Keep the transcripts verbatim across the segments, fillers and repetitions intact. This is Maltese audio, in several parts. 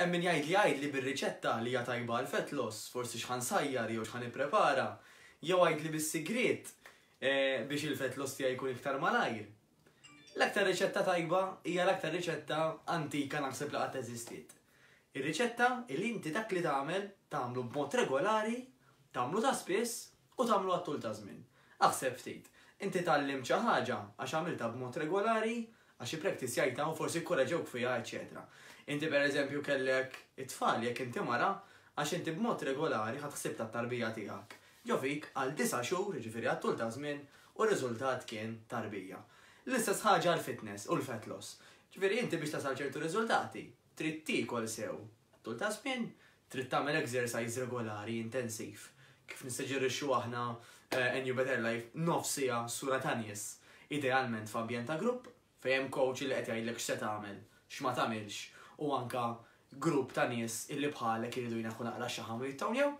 Hemm min jgħid li għidli bir-riċetta li hija tajba għal fat loss, forsi x'ħa nsajjar jew x'ħa nipprepara, jew għidli bis-sigriet eh, biex il-fat loss tiegħi jkun iktar malajr. L-aktar riċetta tajba hija l-aktar riċetta antika naħseb li qatt eżistiet. Ir-riċetta li inti dak li tagħmel tagħmlu b'mod regolari, tagħmlu ta' spiss u tagħmlu għat-tul ta' żmien. Aħseb ftit, inti tgħallimt xi ħaġa għax għamiltha b'mod regolari, għax ippraktisjajtha u forsi korreġewk fiha, eċetera. Inti, per eżempju, kellek it-tfal, jekk inti mara, għax inti b'mod regolari ħadt ħsieb tat-tarbija tiegħek. Ġo fik għal disa' xhur, ġifieri għat-tul ta' żmien, u r-riżultat kien tarbija. L-istess ħaġa l-fitness u l-fat loss. Ġifieri inti biex tasal ċertu riżultati, trid tiekol sew tul ta' żmien, trid tagħmel exercise regolari intensiv. Kif nissuġġerixxu aħna eh, A New Better Life, nofs siegħa sura ta' nies, idealment f'ambjent ta' grupp, fejn hemm coach li qed jgħidlek x'se tagħmel, x'ma tagħmilx, u anka grupp ta' nies illi bħalek iridu jneħħu naqra xaħam u jittownjaw.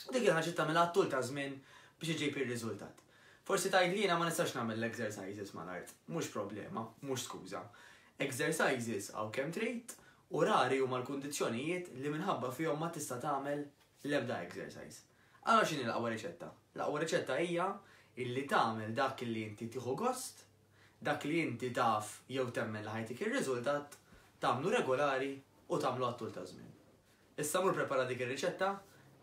U dik il-ħaġa tagħmilha tul ta' żmien biex iġib ir-riżultat. Forsi tgħid li jiena ma nistax nagħmel l-exercises mal-art. Mhux problema, mhux skuża. Exercises hawn kemm trid u rari huma l-kundizzjonijiet li minħabba fihom ma tista' tagħmel l-ebda exercise. Allora x'inhi l-aqwa riċetta? L-aqwa riċetta hija illi tagħmel dak li inti tieħu gost, dak li inti taf jew temmen li ħa jtik ir-riżultat, tagħmlu regolari u tagħmlu għat-tul ta' żmien. Issa mur prepara dik ir-riċetta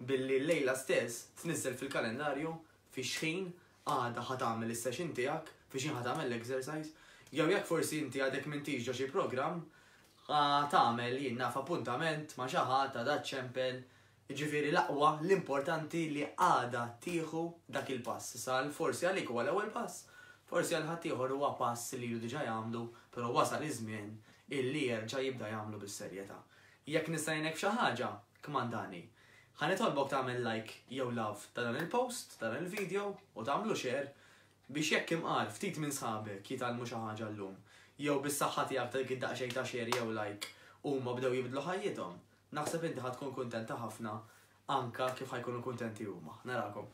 billi l-lejla stess tniżel fil-kalendarju fi xħin għada ħa tagħmel is-session tiegħek, fi xħin ħa tagħmel l-exercise, jew jekk forsi inti għadek m'intix ġo xi programm, ħa tagħmel, jien naf, appuntament ma' xi ħadd għada ċempel, ġifieri l-aqwa, l-importanti li għada tieħu dak il-pass. Sal forsi għalik huwa l-ewwel pass, forsi għal ħaddieħor huwa pass li ilu diġà jagħmlu, però wasal iż-żmien illi jerġa' jibda jagħmlu bis-serjetà. Jekk nista' ngħinek f'xi ħaġa, kmandani. Ħa nitolbok tagħmel like jew love ta' dan il-post, ta' dan il-video u tagħmlu share biex jekk imqar ftit minn sħabek jitgħallmu xi ħaġa llum, jew bis-saħħa tiegħek ta' dik id-daqsxejn ta' share jew like huma bdew jibdlu ħajjithom. Naħseb inti ħa tkun kuntenta ħafna anka kif ħa jkunu kuntenti huma. Narakom.